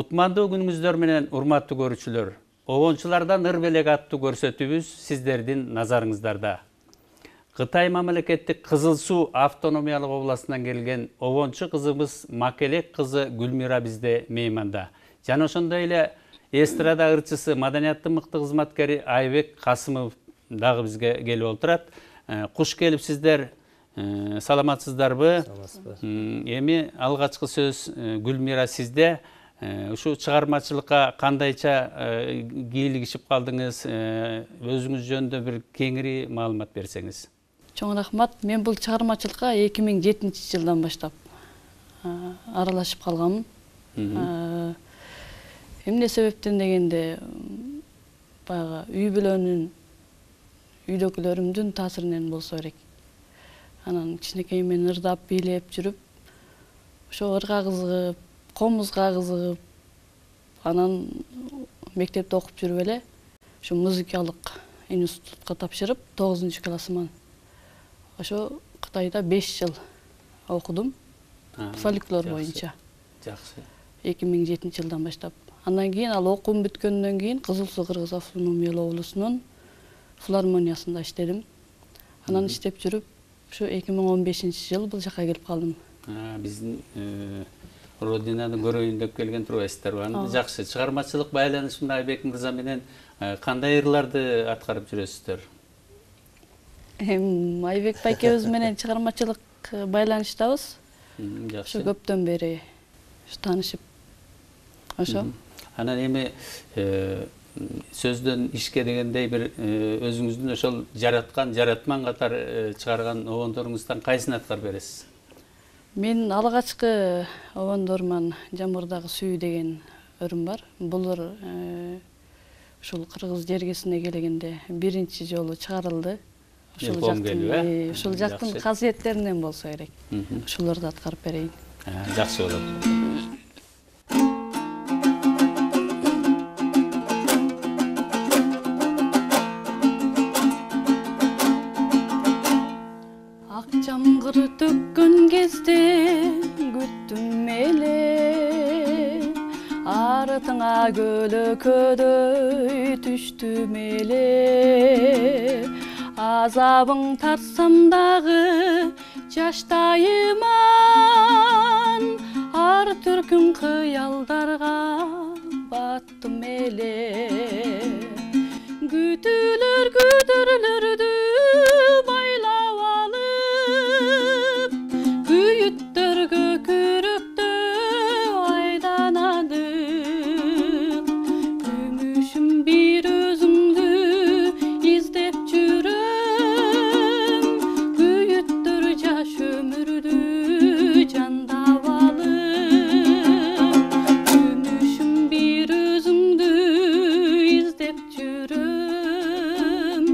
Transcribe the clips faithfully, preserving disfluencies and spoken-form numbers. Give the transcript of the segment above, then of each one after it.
Кутмандуу күнүңүздөр менен урматтуу көрүүчүлөр. Обончулардан ыр белек аттуу көрсөтүүбүз сиздердин назарыңыздарда. Кытай мамлекеттик Кызыл Суу автономиялык областынан келген обончу кызыбыз Макелек кызы Гүлмира бизде мейманда. Жана ошондой эле эстрада ырчысы, маданияттын мыкты кызматкери Айбек Касымов дагы бизге келип отурат. Куш келипсиздер. Саламатсыздарбы? Эми алгачкы сөз Гүлмира сизде. Ушу чыгармачылыкка кандайча кийлигишип калдыңыз? Өзүңүз жөнүндө бир кеңири маалымат берсеңиз. Чоң рахмат. Мен бул чыгармачылыкка эки миң жетинчи жылдан баштап аралашып калганмын. Эмне себептен дегенде, баягы үй бүлөнүн, үйдөгүлөрүмдүн таасиринен болсо керек. Анан кичинекей мен ырдап, бийлеп жүрүп, ошо ырга кызыгып, комузга кызыгып, анан мектепте окуп жүрүп эле ушу музыкалык институтка тапшырып, тогузунчу классыман ошо Кытайда беш жыл окудум. Фольклор боюнча. Жакшы. эки миң жетинчи жылдан баштап. Андан кийин ал окуум бүткөндөн кийин Кызыл Суу Кыргыз автономиялык облусунун филармониясында иштедим. Анан иштеп жүрүп, ушу эки миң он бешинчи жыл бул жака келип калдым. Биздин родинаны көрөйүн деп келген турбайсыздарбы? Аны жакшы. Чыгармачылык байланышында Айбек мырза менен кандай ырларды аткарып жүрөсүздөр? Эми Айбек байкебиз менен чыгармачылык байланыштабыз. Жакшы. Ошо көптөн бери таанышып. Ошо. Анан эми сөздөн ишке дегендей бир өзүңүздүн ошол жараткан, жаратман катар чыгарган обондоруңуздан кайсын аткарып бересиз? Мен алгачкы обондорман Жамырдагы сүү деген өрүм бар. Бул ыр ушул кыргыз жергесине келгенде биринчи жолу чыгарылды. Ушул жактын, ушул жактын касиеттеринен болсо керек. Ушуларды аткарып берейин. Жакшы болот. Жамгыр төккөн кезде күттүм эле, артыңа көлөкөдөй түштүм эле. Азабың тартсам дагы жаштайыман, ар түркүм кыялдарга баттым эле. Күтүлөр күтүрлөрдү байлап алып, күйүттөргө күрөктө айданадык. Күмүшүм бир өзүңдү издеп жүрөм, күйүттөр жаш өмүрдү жандап алып. Күмүшүм бир өзүңдү издеп жүрөм,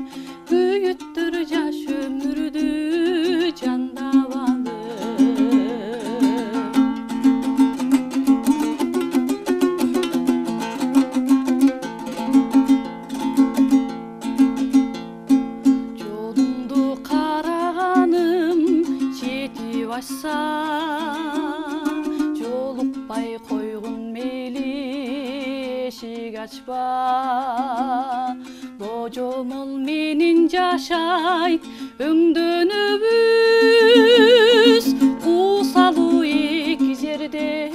күйүттөр жаш өмүрдү жандап алып. Жолуңду караганым жетип ашса, жолукпай койгун мейли эшик ачпа. Божомол менен жашайт өңдөнүбүз, куусалуу эки жерде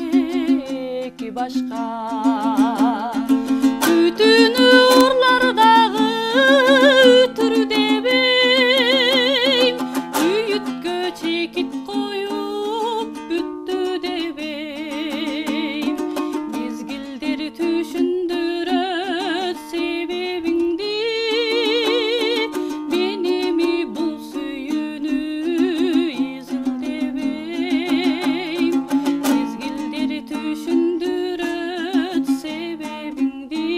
эки башка. Күтүүнү урлар дагы үтүр дебейм, үйүткө чекит коюп бүттү дебейм. Мезгилдер түшүндүрөт себебиңди, меними бул сүйүүнү изилдебейм. Мезгилдер түшүндүрөт себебиңди,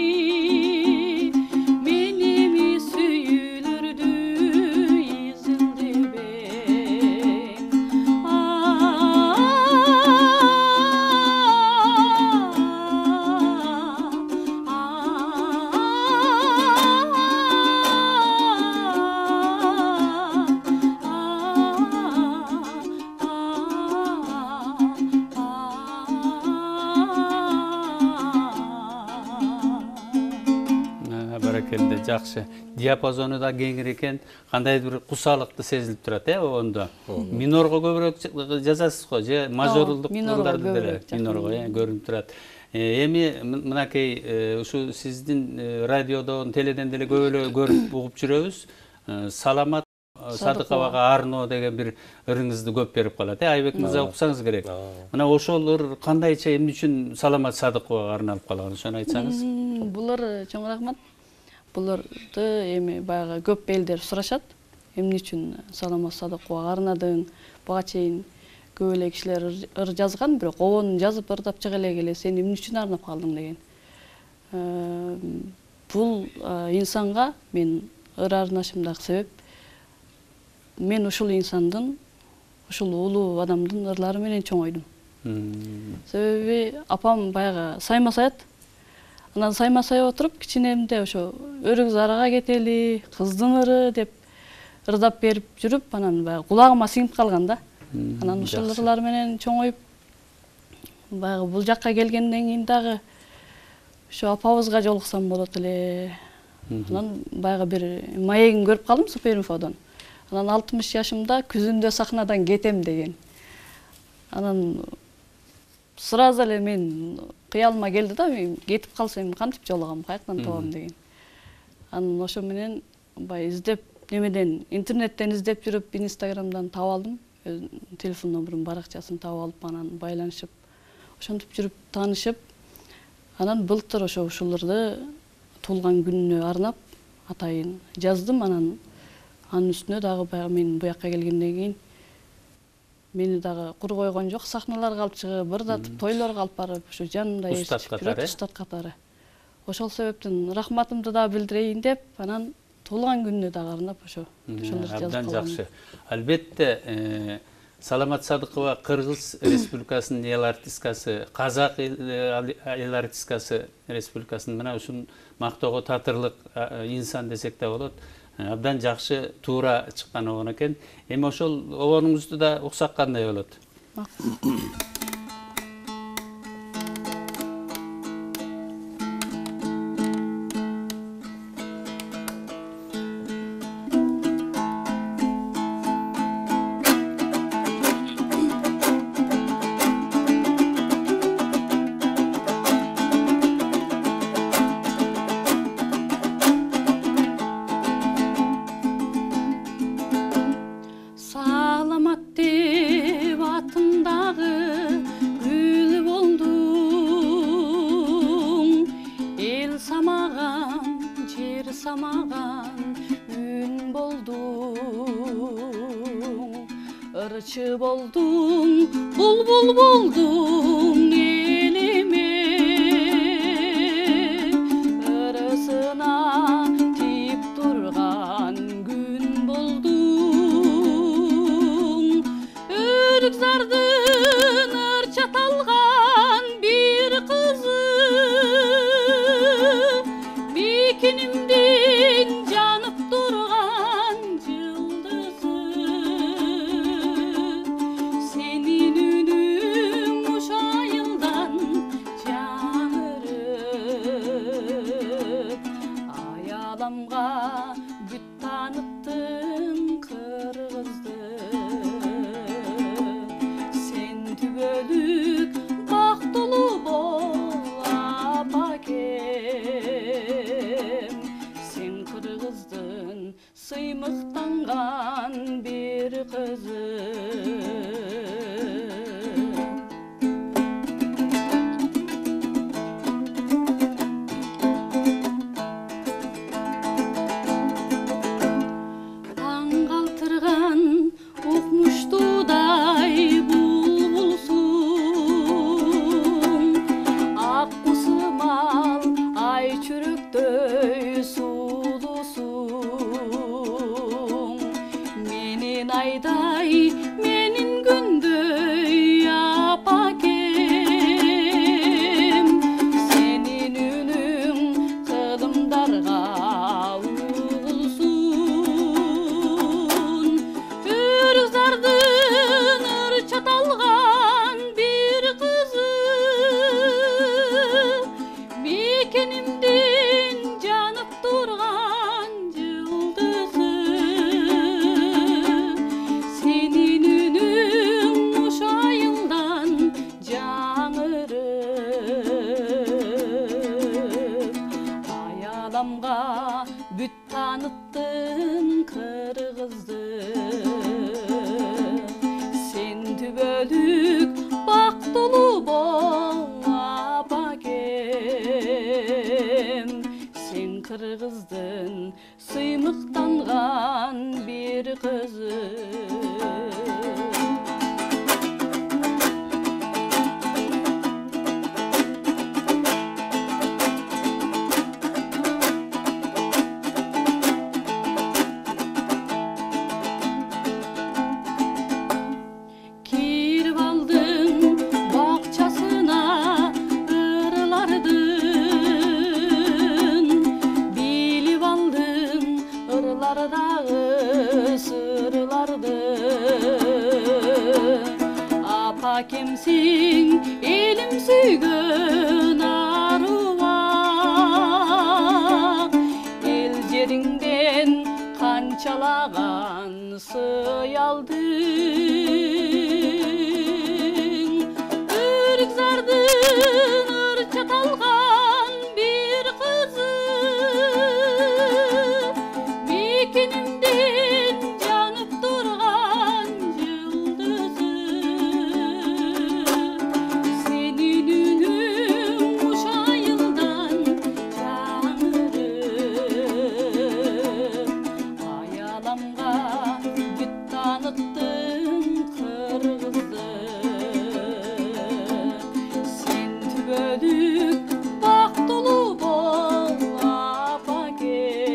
жакшы. Диапазону да кеңир экен, кандайдыр бир кусалыкты сезилип турат э обондо. Минорго көбүрөөк жазасыз го, же мажорлдук кылдарды деле минорго э көрүнүп турат. Эми мынакей ушу сиздин радиодон, теледен деле көп эле көрүп угуп жүрөбүз. Саламат Садыковага арноо деген бир ырыңызды көп берип калат. Э Айбек мырза уксаңыз керек. Мына ошол ыр кандайча эмне үчүн Саламат Садыковага арналып калган, ошону айтсаңыз. Булар чоң рахмат. Буларды эми баягы көп элдер сурашат. Эмне үчүн Саламат Садыковага арнадың? Буга чейин көп эле кишилер ыр жазган, бирок обонун жазып ырдап чыга элек эле сен эмне үчүн арнап калдың деген. Бул инсанга мен ыр арнашымдагы себеп мен ушул инсандын, ушул улуу адамдын ырлары менен чоңойдум. Себеби апам баягы сайма-саят. Анан сайма-сай отуруп, кичинемде ошо өрүк зарага кетели, кыздын ыры деп ырдап берип жүрүп, анан баягы кулагыма сиңип калган да. Анан ушул ырлар менен чоңоюп, баягы бул жакка келгенден кийин дагы ошо апабызга жолуксам болот эле. Анан баягы бир маегин көрүп калдым Суперинфодон. Анан алтымыш жашымда күзүндө сахнадан кетем деген. Анан сразу эле мен кыялыма келди да, мен кетип калсам кантип жолугам, каяктан табам деген. Анан ошо менен бай издеп, немеден интернеттен издеп жүрүп, Инстаграмдан таап алдым. Телефон номерин, баракчасын таап алып, анан байланышып, ошентип жүрүп таанышып, анан былтыр ошо ушуларды туулган күнүнө арнап атайын жаздым. Анан анын үстүнө дагы баягы мен буякка келгенден кийин мени дагы кур койгон жок, сахналарга алып чыгып, ырдатып, тойлорго алып барып, ошо жанында эсип жүрөт, устат катары. Ошол себептен рахматымды да билдирейин деп, анан туулган күнүнө дагы арнап ошо ошолор жазып калгам. Абдан жакшы. Албетте, Саламат Садыкова Кыргыз Республикасынын эл артисткасы, Казак эл артисткасы республикасынын мына ушун мактоого татырлык инсан десек да болот. Абдан жакшы, туура чыккан обон экен. Эми ошол обонуңузду да уксак кандай болот? Ырчы болдуң, булбул болдуң элиме, ырысына тип турган күн болдуң. Өрүк зардын ырча талган бир кызы, бекинимдин жанып турган жылдызы. Сенин үнүң уш айылдан жаңырып, аяламга бүт тааныттың кыргызды. Сен түбөлүк бактылуу бол апакем, сен кыргыздын сыймыктанган бир кызы. Таң калтырган укмуштуудай булбулсуң, ак кусумал ай чүрөктөй сулуусуң. Менин айдай, менин күндөй апакем, сенин үнүң кылымдарга угулсун. Өрүк зардын ырча талган бир кызы, мекенимдин жанып турган сырларды. Апа кемсиң элим сүйгөн арубак, эл жериңден канчалаган сый алдың. Үргзардын ырчаталган бир кызы, мекенimден жанып турган жылдызы. Сенин үнүң уш айылдан жаңырып, аяламга бүт таныттың кыргызды. Сен түбөлүк бактылуу бол апакем,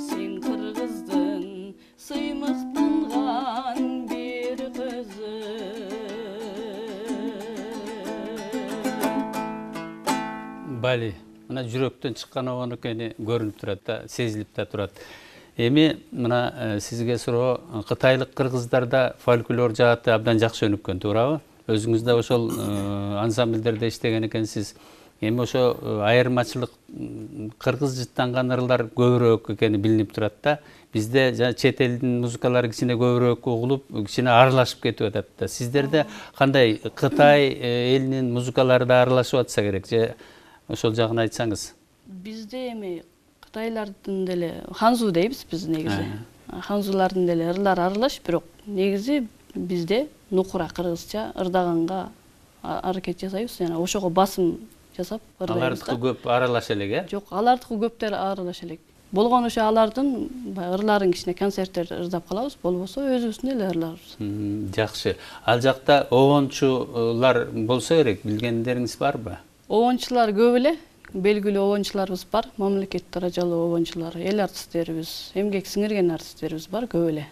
сен кыргыздын сыймыктанган бир кызы. Бали, мына жүрөктөн чыккан обон экени көрүнүп турат да, сезилип да турат. Эми мына сизге суроо, кытайлык кыргыздарда фольклор жааты абдан жакшы өнүккөн, туурабы? Өзүңүз да ошол ансамбльдерде иштеген экенсиз. Эми ошо айырмачылык кыргыз жыттанган ырлар көбүрөөк экени билинип турат да. Бизде жана чет элдин музыкалары кичине көбүрөөк угулуп, кичине аралашып кетип атат да. Сиздерде кандай Кытай элинин музыкалары да аралашып атса керек же ошол жагын айтсаңыз? Бизде эми кытайлардын деле ханзу дейбиз биз негизи. Ханзулардын деле ырлары аралаш, бирок негизи бизде нукура кыргызча ырдаганга аракет жасайбыз, жана ошого басым жасап ырлайбыз. Алардыкы көп аралаша элек, э? Жок, алардыкы көптөр аралаша элек. Болгон ошо алардын ырларын кичине концерттерде ырдап калабыз, болбосо өзүбүздүн эле ырларыбыз. Жакшы. Ал жакта обончулар болсо керек, билгендериңиз барбы? Обончулар көп эле, белгилүү обончуларыбыз бар, мамлекет даражалуу обончулар, эл артисттерибиз, эмгек сиңирген артисттерибиз бар, көп эле.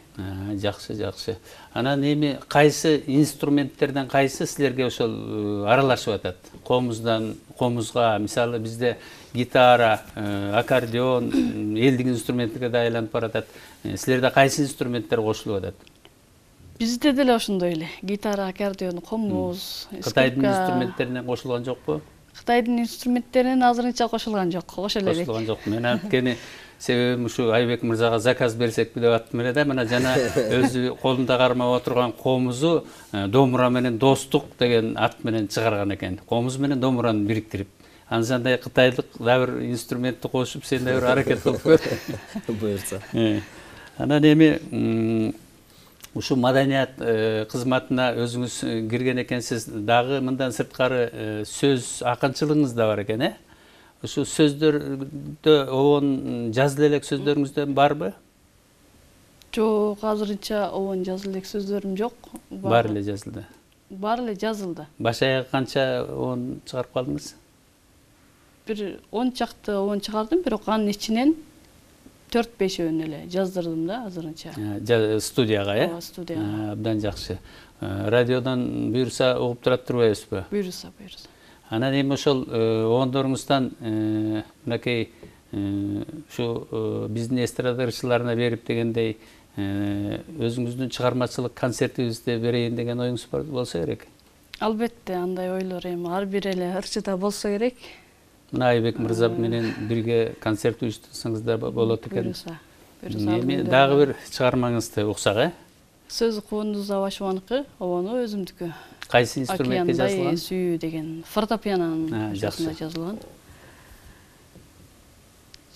Жакшы, жакшы. Анан эми кайсы инструменттерден кайсы силерге ошол аралашып атат? Комуздан, комузга, мисалы бизде гитара, аккордеон, элдик инструментке да айланып баратат. Силерде кайсы инструменттер кошулуп атат? Бизде деле ошондой эле. Гитара, аккордеон, комуз, скрипка. Кытайдын инструменттеринен кошулган жокпу? Кытайдын инструменттеринен азырынча кошулган жок, кошо элек. Кошулган жок. Мен анткени себебим ушу Айбек мырзага заказ берсекпи деп аттым эле да. Мына жана өзү колунда кармап отурган комузу домура менен достук деген ат менен чыгарган экен. Комуз менен домураны бириктирип. Ансандай кытайлык да бир инструментти кошуп, сен да бир аракет кылып көр. Буйрса. Анан эми ушу маданият кызматына өзүңүз кирген экенсиз, дагы мындан сырткары сөз акынчылыгыңыз да бар экен, э? Ушу сөздөрдө обон жазыла элек сөздөрүңүздөн барбы? Жок, азырынча обон жазыла элек сөздөрүм жок. Бар эле жазылды. Бар эле жазылды. Баш аяк канча обон чыгарып калдыңыз? Бир он чакты обон чыгардым, бирок анын ичинен төрт бешөөнү эле жаздырдым да азырынча. Студияга, э? Ооба, студияга. Абдан жакшы. Радиодон буйрса угуп турат турбайбызбы? Буйрса, буйрса. Анан эми ошол обондоруңуздан мынакей ушу биздин эстрада ырчыларына берип дегендей өзүңүздүн чыгармачылык концертибизди берейин деген оюңуз болсо керек. Албетте, андай ойлор эми ар бир эле ырчыда болсо керек. Мына Айбек мырза менен бирге концерт уюштурсаңыздар болот экен. Буйрса. Эми дагы бир чыгармаңызды уксак, э? Сөзү Кубандуз Абашеваныкы, обону өзүмдүкү. Кайсы инструментте жазылган? Океандай сүйүү деген фортепианонун жашында жазылган.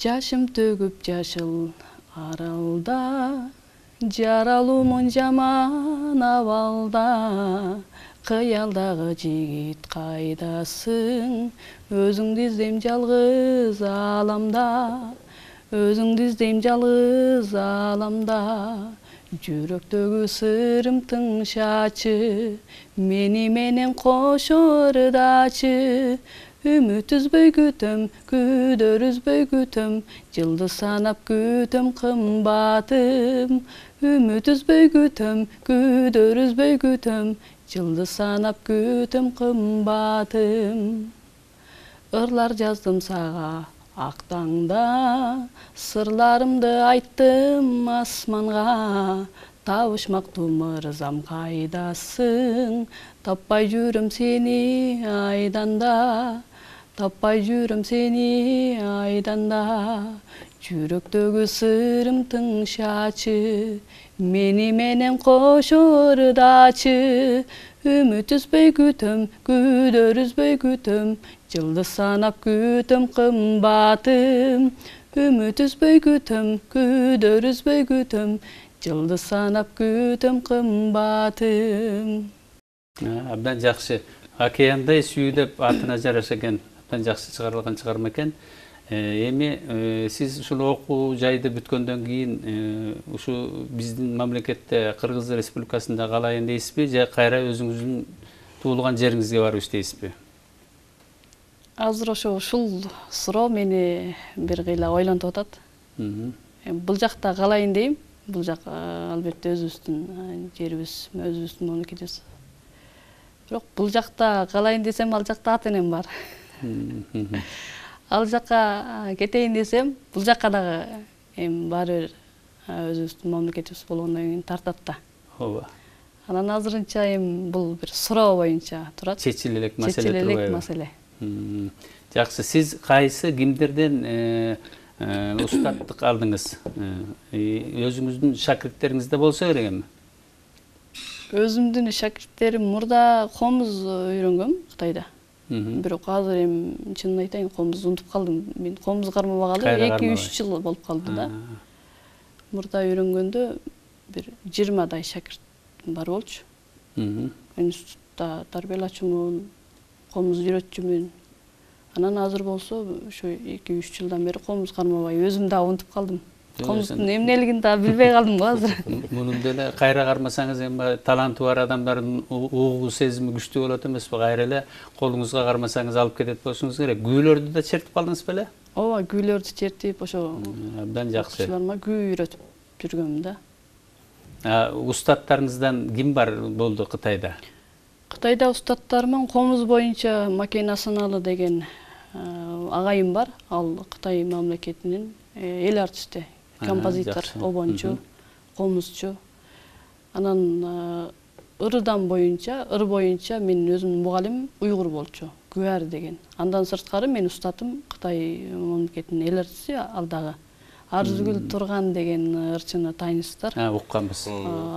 Жашым төгүп жашыл аралда, жаралуумун жаман абалда, кыялдагы жигит кайдасың, өзүңдү издейм жалгыз аламда, өзүңдү издейм жалгыз аламда. Жүрөктөгү сырым тыңшачы, мени менен кошо ырдачы. Үмүт үзбөй күтөм, күдөр үзбөй күтөм, жылды санап күтөм кымбатым. Үмүт үзбөй күтөм, күдөр үзбөй күтөм, жылды санап күтөм кымбатым. Ырлар жаздым сага Актаңда сырларымды айттым асманга, табышмактуу мырзам кайдасың? Таппай жүрөм сени айданда, таппай жүрөм сени айданда. Жүрөктөгү сырым тыңшачы, мени менен кошо ырдачы. Үмүт үзбөй күтөм, күдөр үзбөй күтөм, жылдыз санап күтөм кымбатым. Үмүт үзбөй күтөм, күдөр үзбөй күтөм, жылдыз санап күтөм кымбатым. Абдан жакшы. Океандай сүйүү деп атына жараша экен. Абдан жакшы чыгарылган чыгарма экен. Эми сиз ушул окуу жайды бүткөндөн кийин ушу биздин мамлекетте Кыргыз Республикасында калайын дейсизби, же кайра өзүңүздүн туулган жериңизге барып иштейсизби? Азыр ошо ушул суроо мени бир кыйла ойлонтуп атат. Бул жакта калайын дейм. Бул жак албетте өзүбүздүн жерибиз, өзүбүздүн мамлекетибиз. Бирок бул жакта калайын десем, ал жакта ата энем бар. Ал жакка кетейин десем, бул жакка дагы эми баары бир өзүбүздүн мамлекетибиз болгондон кийин тартат да. Ооба. Анан азырынча эми бул бир суроо боюнча турат. Чечиле элек маселе Чечиле элек турбайбы? маселе. Жакшы, сиз кайсы кимдерден устаттык алдыңыз? Өзүңүздүн шакирттериңизде болсо керек эми? Өзүмдүн шакирттерим мурда комуз үйрөнгөм Кытайда. Бирок азыр эми чынын айтайын, комузду унутуп калдым. Мен комуз кармабагалы эки үч жыл болуп калды да. Мурда үйрөнгөндө бир жыйырмадай шакирт бар болчу. Институтта тарбиялачумун, комуз үйрөтчүмүн. Анан азыр болсо ушу эки үч жылдан бери комуз кармабай өзүм да унутуп калдым. Комуздун эмнелигин да билбей калдым го азыр. Мунун деле кайра кармасаңыз эми таланты бар адамдардын угуу сезими күчтүү болот эмеспи? Кайра эле колуңузга кармасаңыз алып кетет болушуңуз керек. Күүлөрдү да чертип калдыңыз беле? Ооба, күүлөрдү чертип, ошо абдан жакшы. окуучуларыма күү үйрөтүп жүргөм да. Устаттарыңыздан ким бар болду Кытайда? Кытайда устаттарымын комуз боюнча Макен Асаналы деген агайым бар. Ал Кытай мамлекетинин эл артисти, композитор, обончу, комузчу. Анан ырдан боюнча, ыр боюнча менин өзүмдүн мугалимим уйгур болчу, Күбөр деген. Андан сырткары мен устатым Кытай мамлекетинин эл артисти, ал дагы Арзугүл Турган деген ырчыны тааныйсыздар. Укканбыз.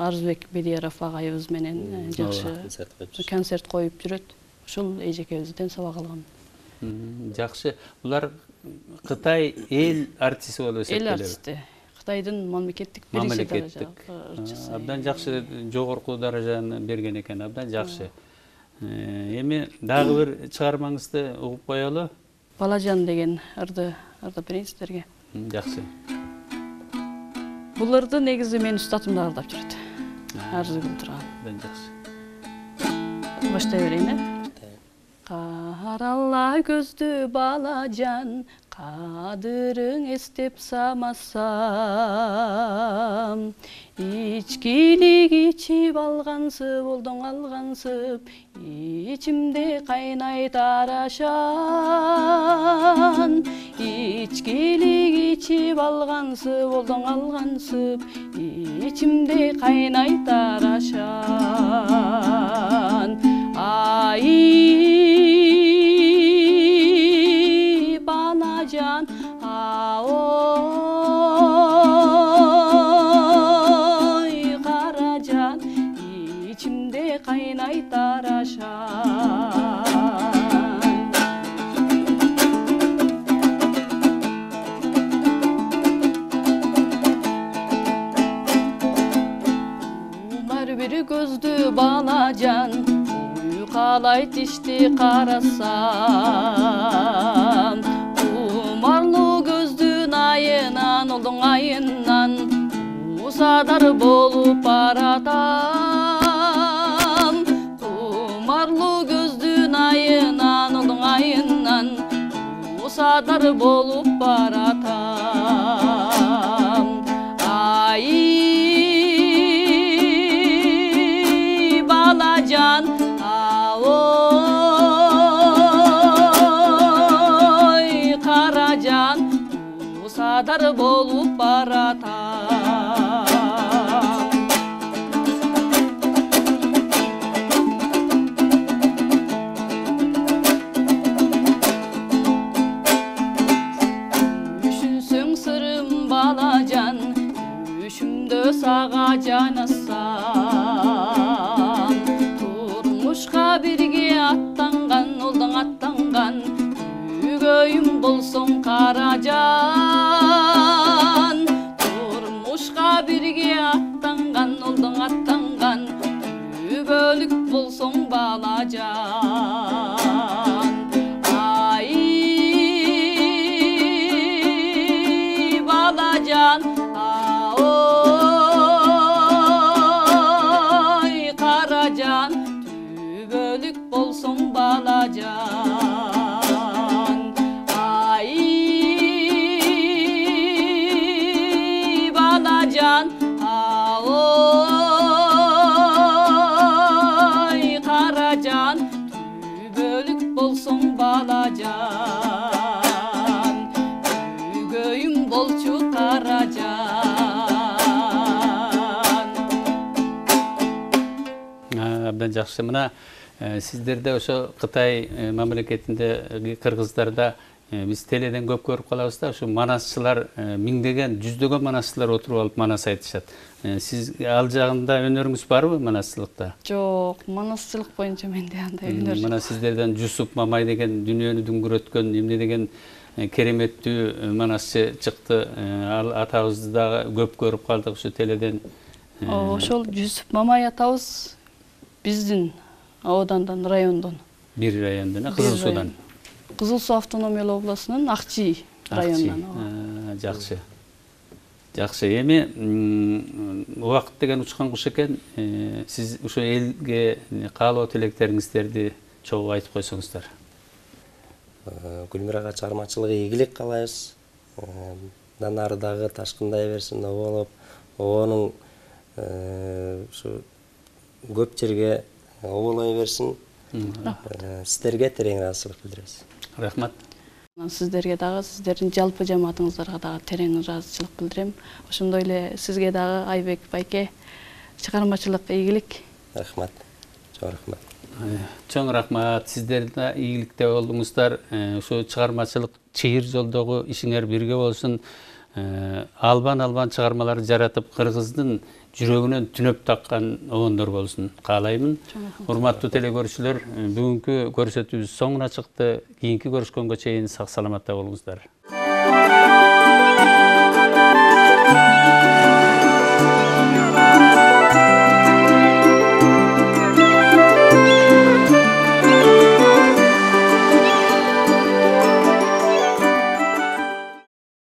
Арзбек Бедияров агайыбыз менен жакшы концерт коюп жүрөт. Ушул эжекебизден сабак алгам. Жакшы. Булар Кытай эл артисти болуп эсептелеби? Эл артисти. Кытайдын мамлекеттик биринчи даража. Абдан жакшы, жогорку даражаны берген экен. Абдан жакшы. Эми дагы бир чыгармаңызды угуп коелу. Балажан деген ырды ырды берейин сиздерге. Жакшы. Бул ырды негизи менин устатым да ырдап жүрөт. Арзугүл Турган. Абдан жакшы. Баштай берейин, э? Каралла көздү балажан, кадырың эстеп самасам. Ичкилик ичип алгансып, олдоң алгансып, ичимде кайнайт арашан. Ичкилик ичип алгансып, олдоң алгансып, ичимде кайнайт арашан. Ай балажан, аой каражан, ичимде кайнайт арашан. Умар бир көздү балажан, уйкалайт ишти карасам. Умарлуу көздүн айынан, олдоң айынан усадар болуп баратам. Умарлуу көздүн айынан, олдоң айынан усадар болуп баратам. Ай балажан, аой каражан, күндө сага жанасам, турмушка бирге аттанган, олдоң аттанган, күгөйүм болсоң каражан. Турмушка бирге аттанган, олдоң аттанган, күбөлүк болсоң балажан. Ай балажан, аой каражан, күбөлүк болсоң балажан. Ай балажан, аой каражан, күбөлүк болсоң балажан. Күгөйүм болчу каражан. Абдан жакшы. Мына сиздерде ошо Кытай мамлекетинде, кыргыздарда биз теледен көп көрүп калабыз да, ушу манасчылар, миңдеген, жүздөгөн манасчылар отуруп алып манас айтышат. Сиз ал жагында өнөрүңүз барбы манасчылыкта? Жок, манасчылык боюнча менде андай өнөр жок. Мына сиздерден Жусуп Мамай деген дүйнөнү дүңгүрөткөн эмне деген кереметтүү манасчы чыкты. Ал атабызды да көп көрүп калдык ушу теледен. Ошол Жусуп Мамай атабыз биздин аудандан, райондон. Бир райондон, Кызыл Суудан. Кызыл Суу автономиялык областынын Акчи районунан. Жакшы. Жакшы. Эми убакыт деген учкан куш экен. Сиз ушул элге каалоо тилектериңиздерди чогуу айтып койсоңуздар. Гүлмирага чыгармачылыгы ийгилик каалайбыз. Андан ары дагы ташкындай берсин, оболоп, обонун ушу көп жерге оболой берсин. Сиздерге терең ыраазычылык билдиребиз. Рахмат. Сиздерге дагы, сиздердин жалпы жамаатыңыздарга дагы терең ыраазычылык билдирем. Ошондой эле сизге дагы Айбек байке чыгармачылык ийгилик. Рахмат. Чоң рахмат. Чоң рахмат. Сиздер да ийгиликте болдуңуздар. Ошо чыгармачылык чыйыр жолдогу ишиңер бирге болсун. Албан-албан чыгармаларды жаратып, кыргыздын жүрөгүнөн түнөп таккан обондор болсун каалаймын. Урматтуу телекөрүүчүлөр, бүгүнкү көрсөтүүбүз соңуна чыкты. Кийинки көрүшкөнгө чейин сак саламатта болуңуздар.